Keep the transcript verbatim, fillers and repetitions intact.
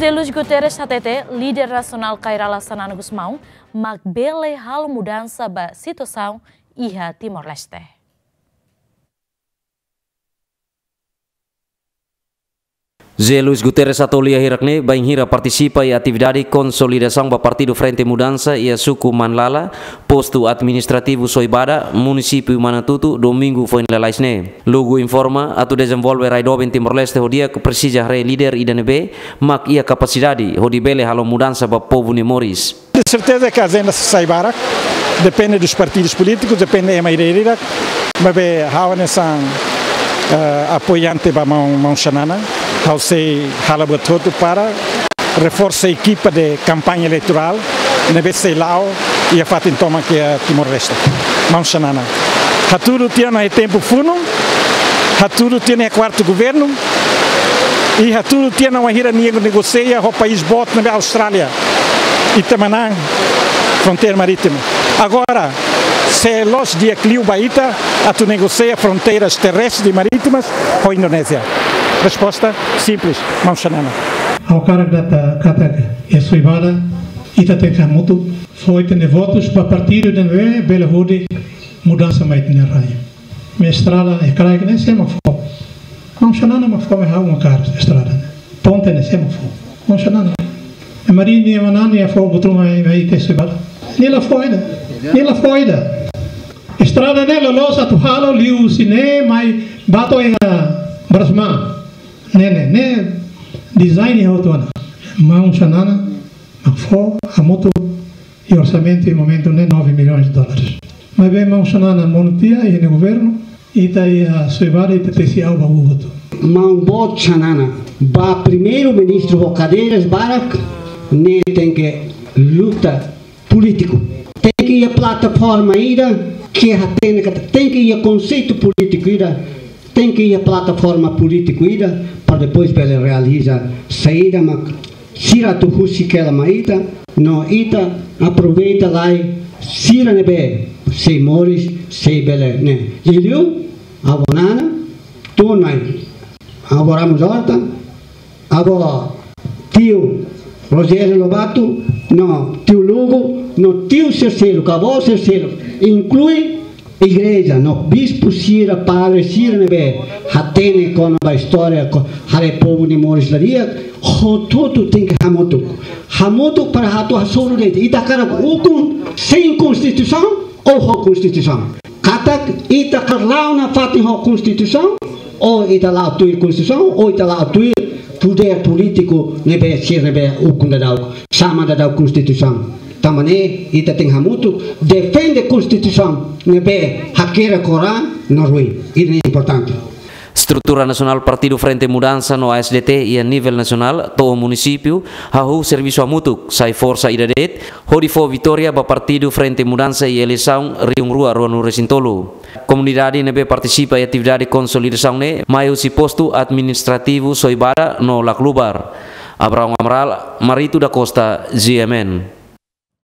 José Luís Guterres hatete, líder nasionál Kay Rala Xanana Gusmão mak bele halo mudansa ba situasaun iha Timor-Leste. José Luís Guterres hato'o lia hirak-ne'e bainhira partisipa iha atividade konsolidasaun ba Partidu Frente Mudansa iha suku Manlala, postu administrativu Soibada, munisípiu Manatutu, domingu foin lalais ne'e. Lugu informa atu dezenvolve rai doben Timor-Leste ho di'ak presiza haree líder ida ne'ebé mak iha kapasidade hodi bele halo mudansa ba povu nia moris. De certeza que a agenda sei barak, depende dos partidos políticos, depende ema ida-idak, maibé ha'u hanesan, eh, apoiante ba maun, maun Xanana, ha'u sei halo buat hotu para reforsa ekipa de kampaña eleitorál ne'ebé sei la'o iha fatin tomak iha Timor-Leste. Maun Xanana, hatudu tiha ona iha tempu funu, hatudu tiha ona iha kuartu governu, i hatudu tiha ona wainhira nia negosia ho país boot ne'ebé Austrália, ita manán fronteira marítima. Agora, se loos di'ak liu ba ita atu negosia fronteiras terrestres e marítimas ho Indonézia? Resposta simples, maun Xanana. Ha'u hakarak dehan katak iha Soibada ita tenke hamutuk fó ita-nia votus ba partidu ida ne'ebé bele hodi mudansa mai ita-nia rai. Maibé estrada iha kraik ne'e sé mak fó? Maun Xanana mak fó, maibé ha'u mak hakarak estrada ne'e. Ponte ne'e sé mak fó? Maun Xanana. Maibé nia manán nia fó buat ruma mai, mai iha Soibada? Nia la fó ida. Nia la fó ida. Estrada ne'e loloos atu halo liuhusi ne'e mai ba to'o iha Brasma. Ne'e, ne'e, ne'e design iha hotu ona. Maun Xanana mak fó, hamutuk, i orsamentu iha momentu ne'e nove milhões de dólares. Maibé maun Xanana monu tiha iha nia governu, ita iha Soibada ita tesi aban ba hotu. Maun boot Xanana, ba primeiru-ministru ho kadeiras barak, ne'e tenke luta polítiku. Tenke iha plataforma ida ke hatene katak, tenke iha konseitu polítiku ida, tenke iha plataforma polítiku ida, para depois bele realiza saida mak sira atu husik hela mai ita, no ita aproveita lai sira ne'ebé sei moris, sei bele ne'e. Liuliu, avó Nana, tun mai, avó Ramos Horta, avó tiu Rogério Lobato, no tiu Lugo, no tiu sira seluk, avó sira seluk, inklui igreja, no bispu sira, padre sira ne'ebé hatene kona-ba istória, ko-, haree povu nia moris la di'ak, hotu-hotu tenke hamutuk. Hamutuk para atu hasoru de'it. Ita hakarak ukun sein konstituisaun ou ho konstituisaun? Katak ita hakarak la'o nafatin ho konstituisaun, ou ita la'o tuir konstituisaun, ou ita la'o tuir podér polítiku ne'ebé sira ne'ebé ukun daudaun, sama daudaun konstituisaun. Tanba ne'e ita tenke hamutuk defende konstituisaun ne'ebé hakerek ho ran no ruin. Ida-ne'e importante. Estrutura nasionál Partidu Frente Mudansa no A S D T iha nivel nasionál to'o munisípiu hahú servisu hamutuk, sai forsa ida de'it, hodi fó vitória ba Partidu Frente Mudansa iha eleisaun rihun rua ruanulu resin tolu. Komunidade ne'ebé partisipa iha atividade konsolidasaun ne'e mai husi postu administrativu Soibada no Laclubar. Abraão Amaral, Marito da Costa, G M N.